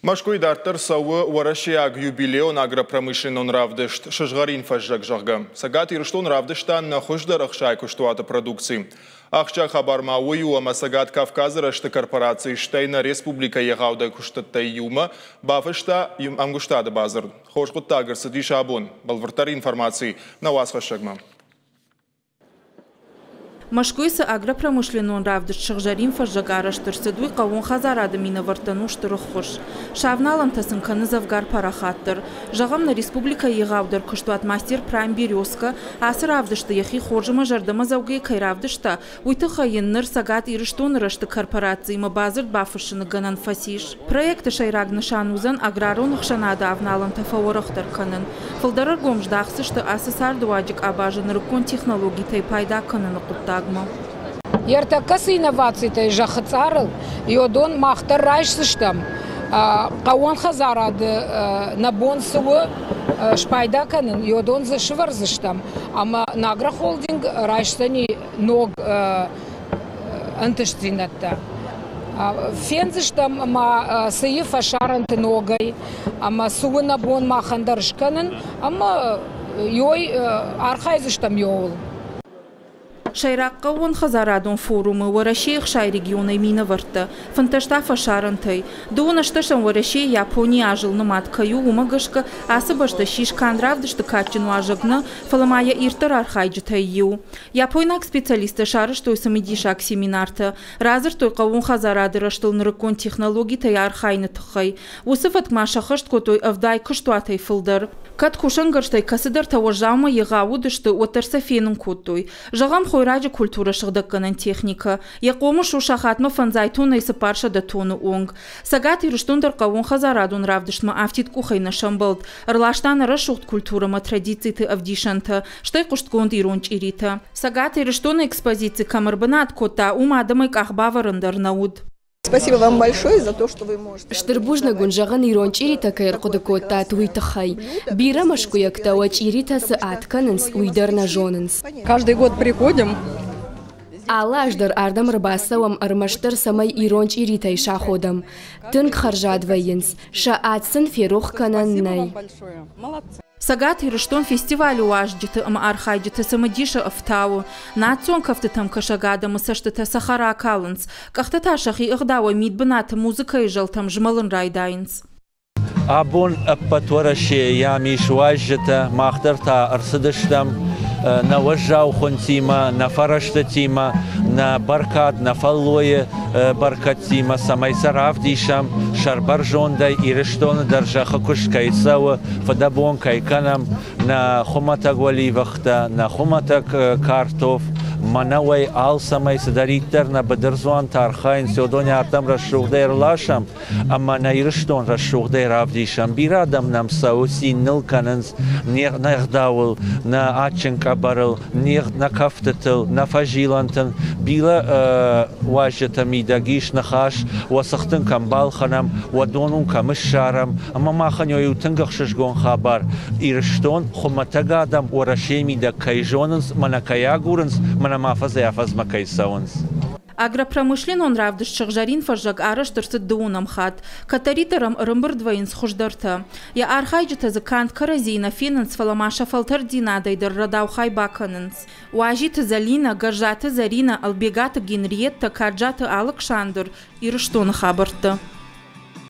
Мӕскуыйы дарддӕр цӕуы уӕрӕсейаг юбилейон агропромышленнон равдыст «Сызгъӕрин фӕззӕг», зӕгъгӕ. Цӕгат Ирыстон равдыста нӕ хуыздӕр 60 куыстуаты продукци. Ахсджиаг хабар ма уый у, ӕмӕ Цӕгат Кавказы рӕзты корпораци стӕй нӕ республикӕйы егъаудӕр куыстӕттӕй иумӕ бафыста ӕмгуыстады бадзырд. Хорз хъуыддаг ӕрцыдис абон. Бӕлвырддӕр информаци нӕ уацхӕссӕгмӕ. Мӕскуыйы цы агропромышленнон равдыст «Сыгъзӕрин фӕззӕг» арӕзт ӕрцыд, уый хъӕууон хӕдзарады минӕвӕрттӕн у стыр ӕххуыс. Сӕ авналӕнтӕ сын кӕны дзӕвгар парахатдӕр. Зӕгъӕм, нӕ республикӕйы егъаудӕр куыстуат «Мастер Прайм Березка» ацы равдысты йӕхи хорз ӕмӕ зӕрдӕмӕдзӕугӕ кӕй равдыста, уый тыххӕй йын ныр Цӕгат Ирыстоны рӕзты корпорациимӕ бадзырд бафыссыны гӕнӕн фӕцис. Проекты сӕйраг нысан уыдзӕн аграрон ӕхсӕнады авналӕнтӕ фӕуӕрӕхдӕр кӕнын. Фылдӕр ӕргом здахдзысты ацы цардыуаджы къабазы нырыккон технологитӕй пайда кӕныны хъуыддагмӕ. Ӕртӕккӕ цы инновацитӕ зӕххы цъарыл, йодон мах дӕр райсдзыстӕм. Хъӕууон хӕдзарады нӕ бон цы у спайда кӕнын, йодон дзы сывӕрдзыстӕм ӕмӕ нӕ агрохолдинг райсдзӕни ног ӕнтыстдзинӕдтӕ. Фендзыстӕм ма цы и фӕсарӕнты ногӕй ӕмӕ цы у нӕ бон махӕн дӕр скӕнын ӕмӕ ёй архайдзыстӕм ёуыл. Сӕйраг хъӕууонхӕдзарадон форумы Уӕрӕсейы 60 регионӕй минӕвӕрттӕ, 15 та фӕсарӕнтӕй. Дыууын ӕстӕсӕм Уӕрӕсейы Японийы азыл нымад кӕй у, уымӕ гӕсгӕ ацы бӕстӕ ссис канд равдысты кадджын уазӕг нӕ, фӕлӕ ма йӕ ирддӕр архайджытӕй иу. Япойнаг специалисттӕ сарӕзтой цымыдисаг семинартӕ, радзырдтой хъӕууон хӕдзарады рӕзтыл нырыккон технологитӕй архайыны тыххӕй. Уыцы фӕтк ма сӕххӕст кодтой 70 куыстуатӕй фылдӕр. Кӕд кусӕнгӕрзтӕй кӕцыдӕртӕ уӕззаумӕ егъау уыдысты, уӕддӕр сӕ фенын кодтой. Зӕгъӕм, хойраджы культурӕ сыгъдӕггӕнӕн техникӕ. Йӕ хъомыс у сахатмӕ 500 тоннӕй 400 тонны онг. Цӕгат Ирыстон дӕр хъӕууонхӕдзарадон равдыстмӕ афтид къухӕй нӕ сӕмбӕлд. Ӕрласта нӕ рӕсугъд культурӕмӕ традициты ӕвдисӕнтӕ, стӕй хъуыстгонд ирон чъиритӕ. Цӕгат Ирыстоны экспозици кӕм ӕрбынат кодта, уым адӕмӕй къах бавӕрын дӕр нӕ уыд. Спасибо вам большое за то, что вы можете. Стыр бузныг уын зӕгъын, ирон чъиритӕ кӕй ӕрхъуыды кодтат, уый тыххӕй. Бирӕ мӕскуыйӕгтӕ уӕ чъиритӕ цы ад кӕнынц, уый дӕр нӕ зонынц. Каждый год приходим. Алы аз дӕр ардӕм ӕрбацӕуӕм ӕрмӕстдӕр цӕмӕй ирон чъиритӕй саходӕм. Тынг хӕрзад вӕййынц, сӕ ад сын ферох кӕнӕн нӕй. Цӕгат Ирыстон фестивалы уазджыты ӕмӕ архайджыты цымыдисы ӕфтауы. Национ кӕфтытӕм кӕсӕг адӕмы цӕстытӕ цӕхӕр акалынц, къӕхтӕ та сӕхи ӕгъдауӕй мидбынаты музыкӕйы зӕлтӕм змӕлын райдайынц. Абон ӕппӕт Уӕрӕсейы ис уазджытӕ, мах дӕр та ӕрцыдыстӕм нӕ уӕззау хуынтимӕ, нӕ фӕрӕзтытимӕ, нӕ бӕркад, нӕ фӕллойы бӕркӕдтимӕ, цӕмӕй сӕ равдисӕм сӕрбӕрзондӕй, Ирыстоны дӕр зӕххы куыст кӕй цӕуы, фыдӕбон кӕй кӕнӕм, нӕ хуымӕтӕг уӕливӕхтӕ, нӕ хуымӕтӕг картоф, мӕнӕуӕй алцӕмӕй цыдӕриддӕр нӕ быдырдзуантӕ архайынц, уыдонӕй ардӕм рӕсугъдӕй ӕрласӕм ӕмӕ нӕ Ирыстон рӕсугъдӕй равдисӕм. Бирӕ адӕм нӕм цӕуы, цин ныл кӕнынц не гъдауыл, нӕ адджын къӕбӕрыл, нӕ кӕфтытыл, нӕ фӕзилӕнтыл. Бирӕ уазджытӕ мидӕг ис ныхас, уӕ цыхтын кӕм балхӕнӕм, уӕ дон уын кӕм ссарӕм. Ӕмӕ махӕн иу тынг ӕхсызгон хабар. Ирыстон хуымӕтӕг адӕм Уӕрӕсейы мидӕг кӕй зонынц, мӕнӕ кӕй агурынц, мӕнӕ ма афӕдзӕй-афӕдзмӕ кӕй цӕуынц. Агропромышленнон равдыст «Сыгъзӕрин фӕззӕг» арӕзт ӕрцыд дыууынӕм хатт. Кӕддӕриддӕр ӕм ӕрӕмбырд вӕййынц хуыздӕртӕ. Йӕ архайджытӕ дзы канд кӕрӕдзийы нӕ фенынц, фӕлӕ ма сӕ фӕлтӕрддзинадӕй дӕр рӕдаухай бакӕнынц. Уазиты Зӕлинӕ, Гӕззаты Зӕринӕ, Ӕлбегаты Генриеттӕ, Каджаты Алыксандр, Ирыстоны хабӕрттӕ.